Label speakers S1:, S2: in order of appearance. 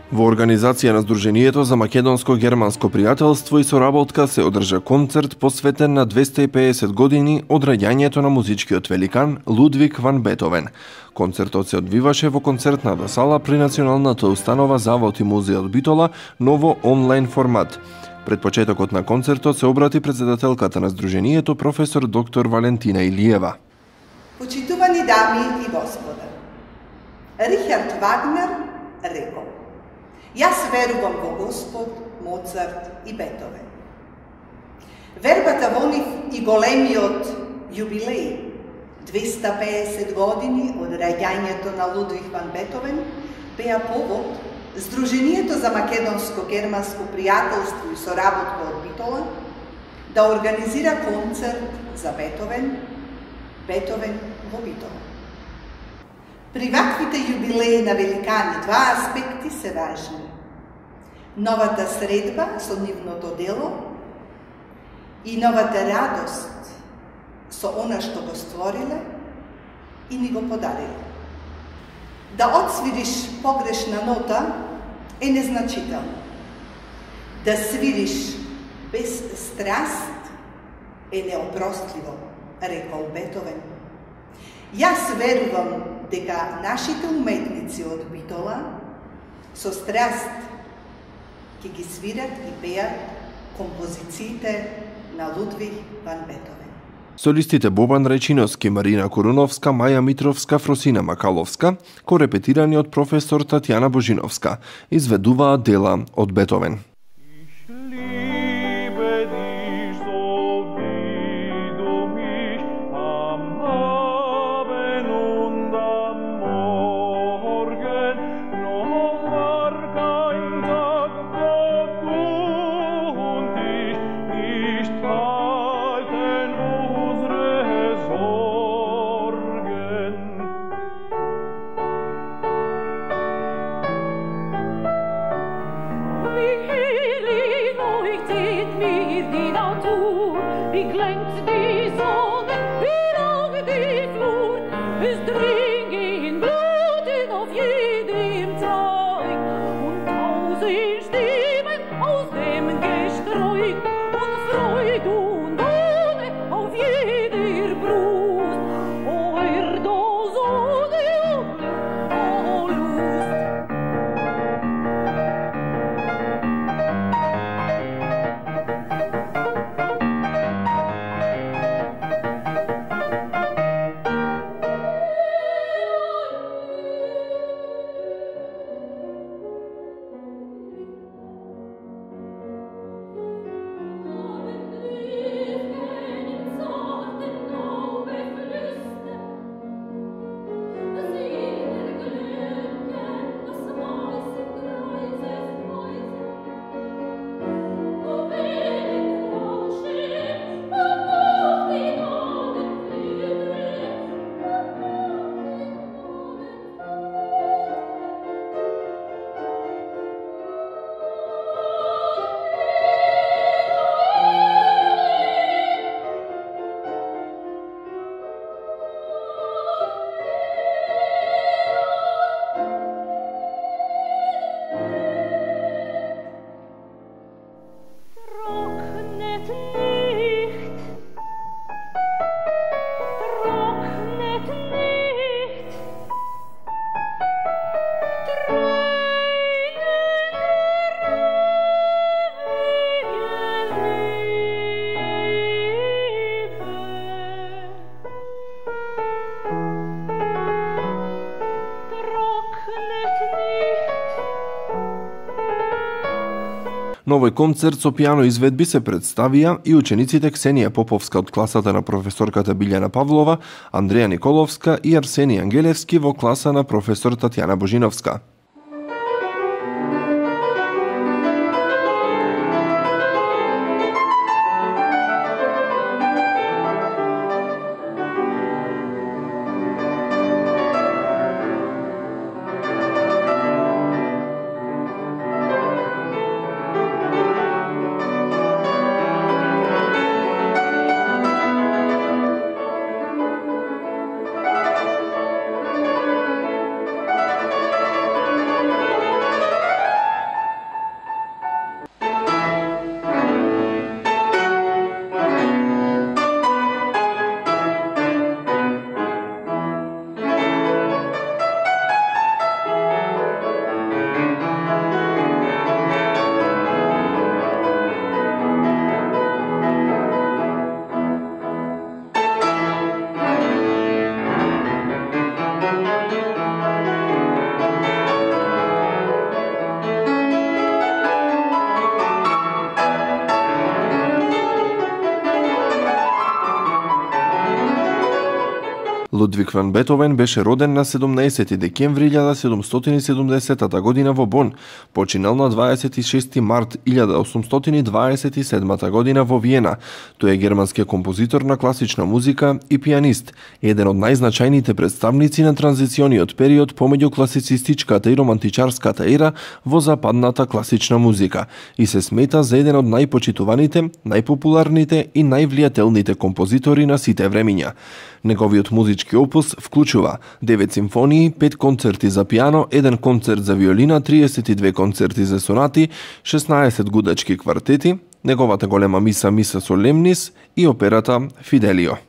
S1: Во организација на Сдруженијето за македонско-германско пријателство и соработка се одржа концерт посветен на 250 години од раѓањето на музичкиот великан Лудвиг ван Бетовен. Концертот се одвиваше во концертната сала при Националната установа Завод и музеј од Битола, ново онлайн формат. Пред почетокот на концертот се обрати председателката на Сдруженијето професор доктор Валентина Илиева.
S2: Почитувани дами и господа, Рихард Вагнер рекол: Јас верувам во Господ, Моцарт и Бетовен. Вербата во нив и големиот јубилеј, 250 години од раѓањето на Лудвиг ван Бетовен, беа повод Сдруженијето за македонско-германско пријателство и соработка од Битола да организира концерт за Бетовен во Битола. При ваквите јубилеи на великани два аспекти се важни. Новата средба со нивното дело и новата радост со она што го створиле и ни го подариле. Да отсвириш погрешна нота е незначително. Да свириш без страст е неопростливо, рекол Бетовен. Јас верувам дека нашите уметници од Битола со страст ќе ги свират и пеат композициите на Лудвиг ван Бетовен.
S1: Солистите Бобан Речиновски, Марина Коруновска, Маја Митровска, Фросина Макаловска, корепетирани од професор Татјана Божиновска, изведуваат дела од Бетовен. Новој концерт со пијано изведби се представија и учениците Ксенија Поповска од класата на професорката Билјана Павлова, Андреја Николовска и Арсени Ангелевски во класа на професор Татјана Божиновска. Лудвиг ван Бетовен беше роден на 17 декември 1770 година во Бон, починал на 26 март 1827 година во Виена. Тој е германски композитор на класична музика и пианист, еден од најзначајните представници на транзициониот период помеѓу класицистичката и романтичарската ера во западната класична музика и се смета за еден од најпочитуваните, најпопуларните и највлијателните композитори на сите времиња. Неговиот музички опус вклучува 9 симфонии, 5 концерти за пиано, 1 концерт за виолина, 32 концерти за сонати, 16 гудачки квартети, неговата голема миса Солемнис и операта Фиделио.